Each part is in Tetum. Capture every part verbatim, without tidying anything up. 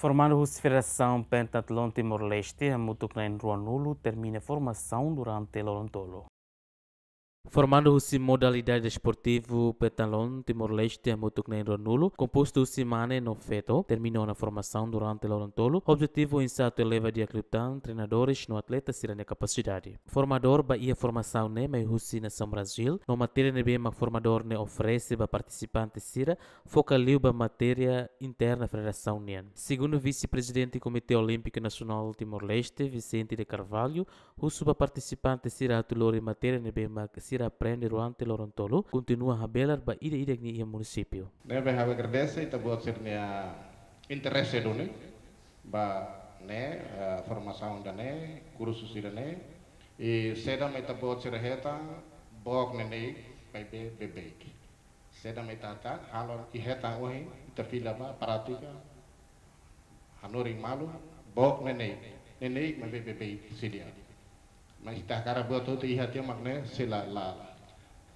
Formandu husi Federasaun Pentatlon Timor-Leste hamutuk na'in ruanulu termina formasaun durante loron tolu. Formandu husi modalidade desportivu Pentatlon Timor-Leste hamutuk na'in ruanulu, kompostu husi mane no feto, termina ona formasaun durante loron tolu. Objetivu oinsá atu eleva di'ak liután treinadores no atleta sira-nia kapasidade. Formadór ba iha formasaun ne'e mai husi nasaun Brazíl, no matéria ne'ebé mak formadór ne'e oferese ba partisipante sira foka liu ba matéria interna federasaun nian. Segundu Vise-Prezidente Komité Olímpiku Nasionál Timor-Leste, Vicente de Carvalho, husu ba partisipante sira atu lori matéria ne'ebé mak sira aprende durante loron tolu, kontinua habelar ba ida-idak nia iha munisípiu. Ne'ebé ha'u agradese ita-boot sira-nia interese duni ba ne'e, eh, formasaun ida-ne'e, kursu sira-ne'e, i saida mak ita-boot sira hetan, book neineik maibé beibeik. Saida mak ita hetan, halo i hetan ohin, ita fila ba prátika, hanorin malu, book neineik, neineik maibé beibeik sei di'ak. Mas ita hakarak buat hotu iha tiha mak ne'e sei la, la.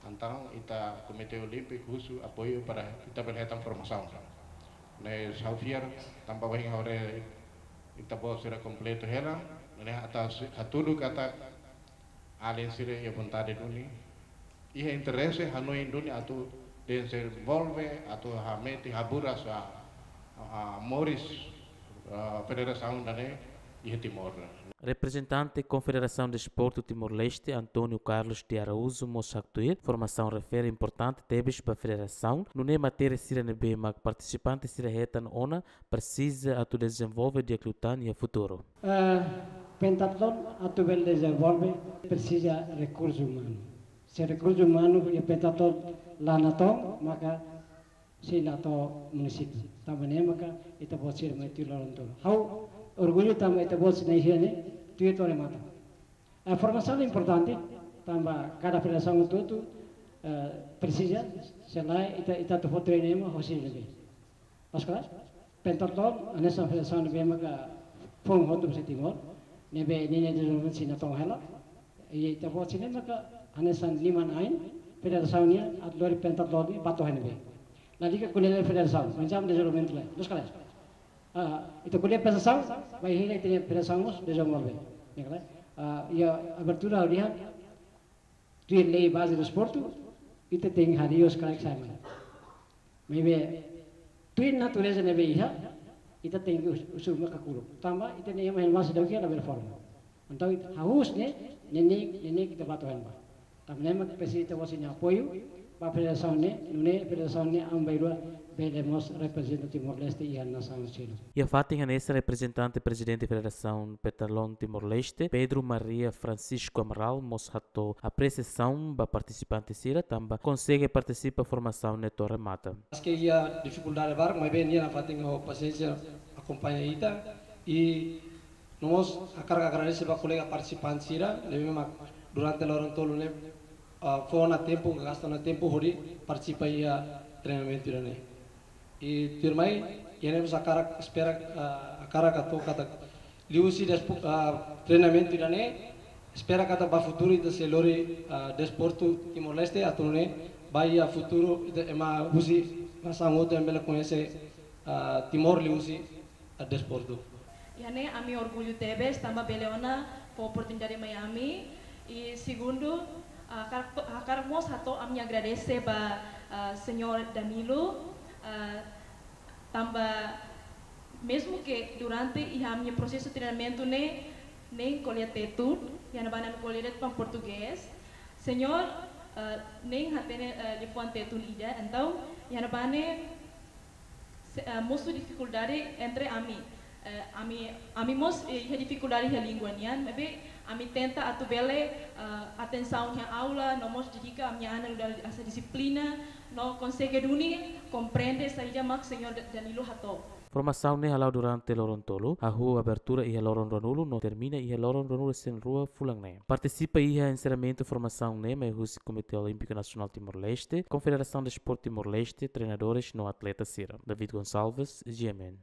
Entaun ita Komité Olímpiku husu apoiu para ita bele hetan formasaun. Ne'e ha'u fiar tanba ohin ha'u haree ita-boot sira kompletu hela, ne'e ita hatudu katak alin sira iha vontade duni, iha interese hanoin duni atu dezenvolve, atu hametin haburas, ah, ah, moris, ah, federasaun ida-ne'e iha Timor. Reprezentante Konfederasaun Desportu Timor-Leste, António Carlos de Araújo, mós haktuir, formasaun refere importante tebes ba federasaun, nune'e matéria sira ne'ebé mak partisipante sira hetan ona presiza atu dezenvolve di'ak liután iha futuru. Eh, pentatlon atu bele dezenvolve presiza rekursu umanu. Se rekursu umanu iha pentatlon la natoon, maka sei la to'o munisípiu. Tanba ne'e maka ita-boot sira mai tuir loron tolu. Ha'u orgullu tanba ita-boot sira iha ne'e tuir to'o remata. Eh, formasaun importante, tanba kada federasaun hotu-hotu, eh, presiza, se lae ita, ita atu fó treinu ema hosi ne'ebé. Loos ka lae? Pentatlon, hanesan federasaun ne'ebé maka foun hotu ba iha Timor, ne'ebé ninia dezenvolvimentu sei natoon hela. I ita-boot sira-ne'e maka hanesan liman-ain federasaun nian atu lori pentatlon ne'e ba to'o iha ne'ebé. Lalika ko'alia federasaun, oinsá dezenvolvimentu lae. Loos ka lae? Ah, ita ko'alia federasaun, bainhira ita-nia federasaun mós dezenvolve. Ne'e ka lae? Ah, iha abertura ha'u dehan, tuir lei baze desportu, ita tenke harii os craques sai mai. Maibé, tuir natureza ne'ebé iha, ita tenke hus-, husu ema kakuluk. Tanba, ita-nia ema hela masa dauke la bele forma. Entaun, ita hahú ne'e, neineik, neineik ita ba to'o iha ne'ebá. Tanba ne'e mak presiza ita-boot sira-nia apoiu ba federasaun ne'e, nune'e federasaun ne'e aban-bainrua bele mós reprezenta Timor-Leste iha nasaun seluk. Iha fatin hanesan, reprezentante Prezidente Federasaun Pentatlon Timor-Leste, Pedro Maria Francisco Amaral, mós hato'o apresiasaun ba partisipante sira tanba konsege partisipa formasaun ne'e to'o remata. Maske iha difikuldade barak, maibé nia nafatin ho pasiénsia akompaña ita, i no mós hakarak agradese ba kolega partisipante sira ne'ebé mak durante loron tolu ne'e, ah, fó ona tempu, gasta ona tempu hodi partisipa iha treinamentu ida-ne'e. I tuirmai, iha ne'e mós hakarak espera, ah, hakarak hato'o katak liuhusi despo-, ah, treinamentu ida-ne'e, espera katak ba futuru ita sei lori, ah, desportu Timor-Leste atu nune'e ba iha futuru ita ema husi nasaun hotu ema bele koñese, ah, Timor liuhusi, ah, desportu. Iha ne'e ami orgullu tebes tanba bele ona fó oportunidade mai ami. I segundu, ah, hakarak, hakarak mós hato'o ami-nia agradese ba, ah, señór Danilo, ah, tanba mezmu ke durante iha ami-nia prosesu treinamentu ne'e, neineik ko'alia Tetun, iha ne'ebá ami ko'alia de'it portugés. Señór, ah, neineik hatene, ah, liafuan Tetun ida, entaun, iha ne'ebá ne'e, se-, eh, mosu difikuldade entre ami. Eh, ami, ami mós, eh, iha difikuldade iha língua nian, maibé ami tenta atu bele, eh, atensaun iha aula, no mós dedika ami-nia an nu'udar hanesan dixiplina, no konsege duni komprende saida mak señór Da-, Danilo hato'o. Formasaun ne'e hala'o durante loron tolu, hahú abertura iha loron ruanulu no termina iha loron ruanulu-resin-rua fulan ne'e. Partisipa iha enserramentu formasaun ne'e mai husi Komité Olímpiku Nasionál Timor-Leste, Konfederasaun Desportu Timor-Leste, treinadores no atleta sira. David Gonçalves, G M N.